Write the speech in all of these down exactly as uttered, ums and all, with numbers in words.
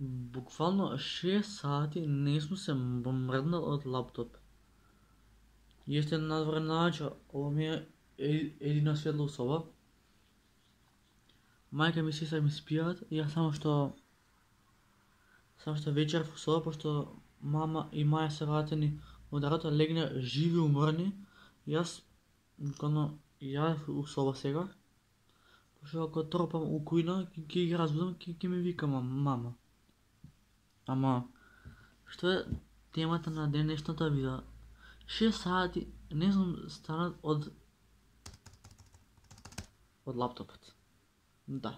Буквално шест сати не сум се мрднал од лаптоп. Јесте надвор наоѓа, ова ми е едина светла соба. Мајка ми сестра ми спијат, јас само што само што вечер во соба, пошто мама и маја се вратени од работа, легна живи уморни. Јас буквално јадев у соба сега. Пошто ако тропам у кујна, ќе ги разбудам, ќе ќе ми вика мама. Ама што е темата на денешната видео? шест сати не сум станат од од лаптопот. Да.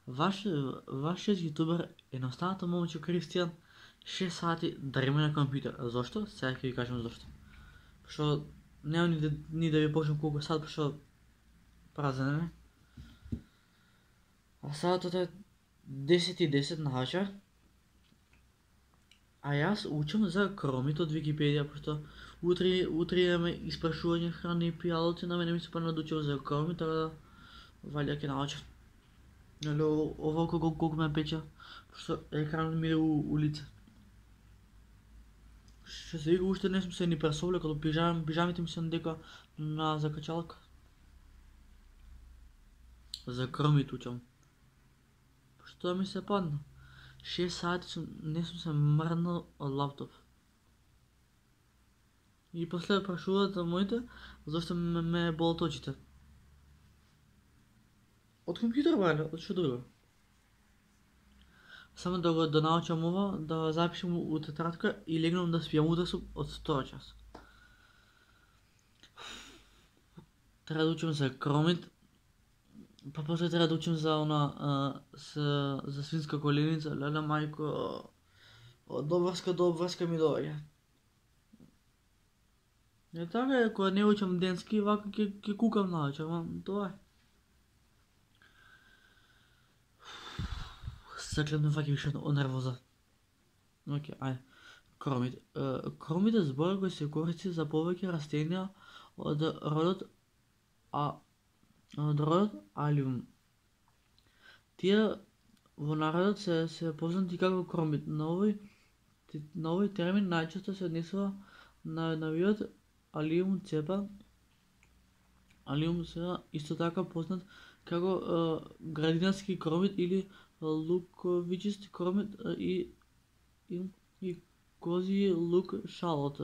Ваш вашиот јутубер едноставното момче Кристијан шест сати дрема на компјутер. Зошто? Сега ќе ви кажам зошто. Пошто нема ни да, ни да ви почнам колку сат, пошто празен е. А сатот е десет и десет на вечер. А јас учам за кромит од Википедија, пошто утре утре имаме испрашување храни и пијалоци, на мене ми се па надучил за кромит, така да валја ќе научам. Нели ова колку колку ме печа, пошто екранот ми иде у, у лице. Што се вика, уште не сум се ни пресовлекал, пижам, пижамите ми се дека на закачалка. За кромит учам. Пошто ми се падна. шест сати сум, не сум се мрднал од лаптоп. И после прашуваат моите зашто ме, ме болат очите. Од компјутер бајле, од што друго. Само да го да научам ова, да запишам у тетрадка и легнам да спијам утре сум од втора час. Треба да учам за кромит, па после треба да учам за она а, с, за свинска коленица, леле мајко, од обврска до обврска ми доаѓа. Е така е, кога не учам денски, вака ќе ќе кукам навечер, ама тоа е. Саклем ме фаќа више од нервоза. Океј, ајде. Кромит. Кромит е збор кој се користи за повеќе растенија од родот а од родот Алиум. Тие во народот се се познати како кромит. На овој на овој термин најчесто се однесува на на видот Алиум цепа. Алиум се исто така познат како е, градинарски кромит или луковичист кромит и и, и кози лук шалот.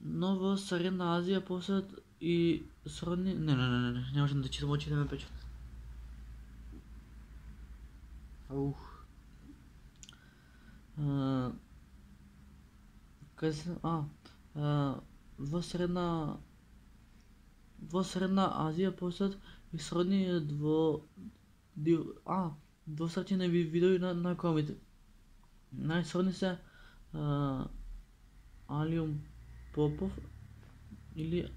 Но во Средна Азија посеат и сродни... Не, не, не, не, не, не можам да читам, очите ме печат. Ух. Uh, Кај се... А, uh, во Средна... Во Средна Азија посеат и сродни дво... Див... А, двосрачени видови на, на кромите. Најсродни се uh, Алиум Попов или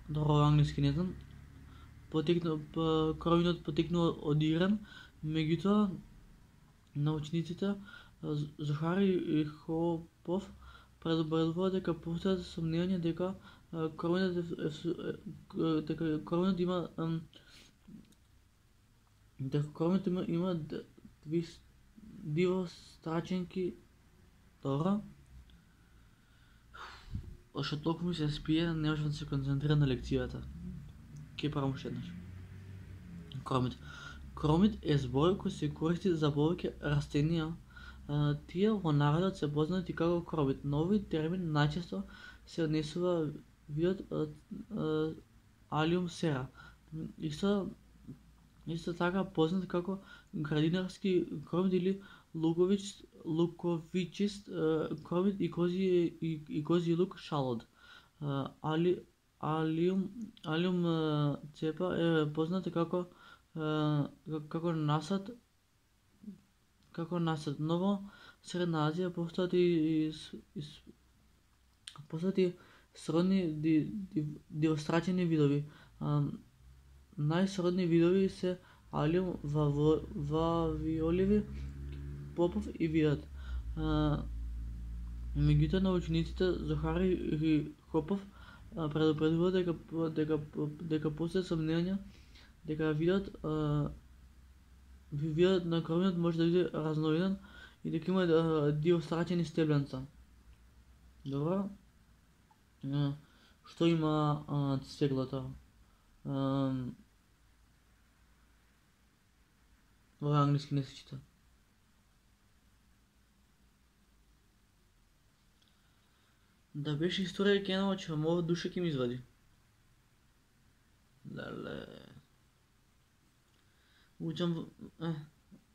добро англиски не знам. Потекну кроминот потекнува од Иран, меѓутоа научниците Захари Хопов предупредуваат дека постојат сомнења дека кроминот дека кроминот има дека кроминот има има дивостраченки. Добро. Ошто толку ми се спие, не можам да се концентрирам на лекцијата. Ке правам уште еднаш. Кромит. Кромит е збор кој се користи за повеќе растенија. Тие во народот се познати како кромит. На овој термин најчесто се однесува видот Алиум сера. Исто исто така познат како градинарски кромит или луковичист луковичист кромит и кози и, и кози лук шалот. Али Алиум Алиум цепа е позната како како насад како насад. Но во Средна Азија постојат и, и, и постојат и сродни ди, ди, дивострачени видови. Најсродни видови се Алиум вавиоливи, Попов и видот. Меѓутоа научниците Захари и Хопов предупредуваат дека дека дека постојат сомнења дека видот видот на кромиот може да биде разновиден и дека има диострачени стебленца. Добро. Што има цеглото? Во англиски не се чита. Да беше историја ќе научам, ова душа ќе ми извади. Леле. Учам е,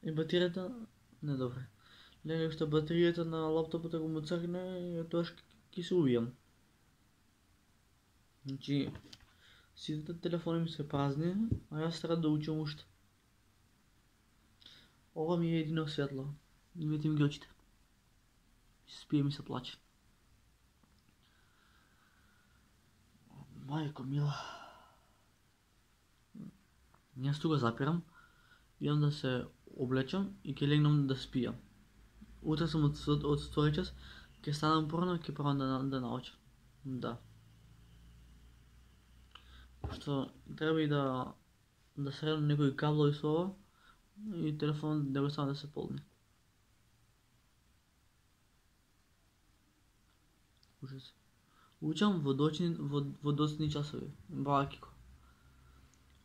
и батеријата не добре. Леле што батеријата на лаптопот ако му цркне, тоа ќе се убијам. Значи сите телефони ми се празни, а јас треба да учам уште. Ова ми е едино светло. Видите ми ги очите. Спие ми се плаче. Мајко мила. Јас тука запирам, идам да се облечам и ќе легнам да спијам. Утре сум од, од втори час, ќе станам порано и ќе пробам да, да научам. Да. Што треба и да да средам некои каблови со ова и телефонот да го ставам да се полни. Ужас. Учам во доцни во, во доцни часови. Баки го.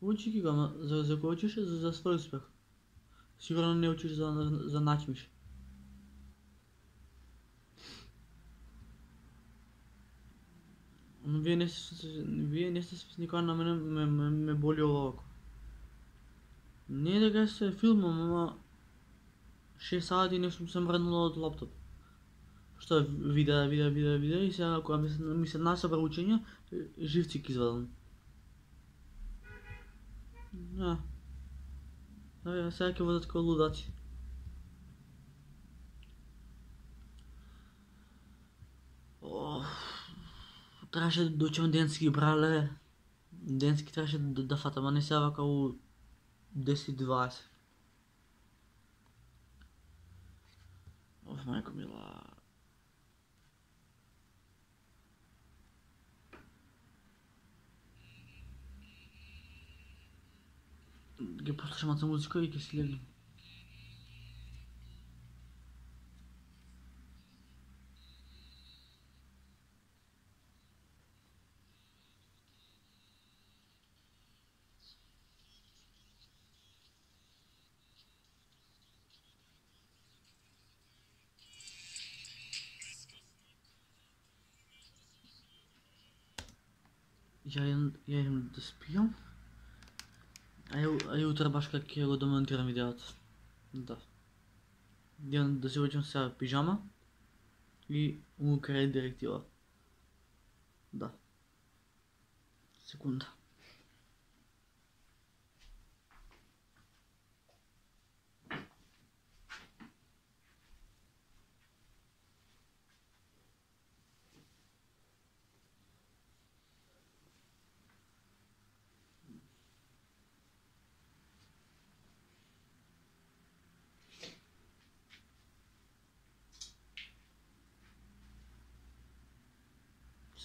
Учи ги го, ама за за кој учиш за за свој успех. Сигурно не учиш за за начмиш. Но вие не сте вие не сте никога на мене ме, ме, ме боли ова око. Не дека се филмом, ама шест сати не сум се мрднала од лаптоп. Што видеа, видеа, видеа, видеа и сега кога ми се, ми се насобра учење, живци ќе извадам. Да. Да, сега ќе водат како лудаци. Оф, требаше да учам денски, брале. Денски требаше да, да фатам, а не сега вака у десет дваесет. Оф, мајко мила. Ги послушам маца музика и ќе си легнам. Ја идам, ја идам да спијам. А ја, а ја утре баш како ќе го демонтирам видеото. Да. Идам да се облечам сега пижама и му крај директива. Да. Секунда.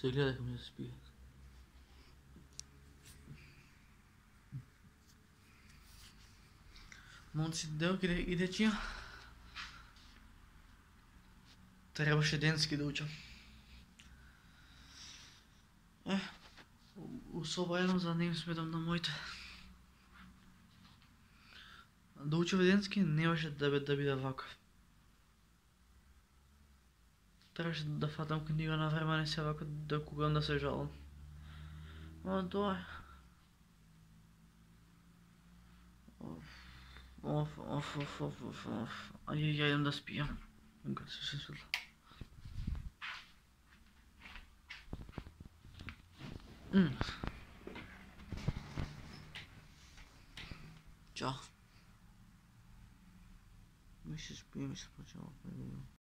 Се гледа како ми се спие. Момци, девојки и дечија, требаше денски да учам. Е, у соба едам за да не им сметам на моите. Да учам денски не беше да, да биде вака. Требаше да фатам книга на време, не се вака да кугам да се жалам. Ама тоа е. Оф, оф, оф, оф, оф, оф. Аје, ја идам да спијам. Кога се се светло. Чао. Ми се спијам и се почнем.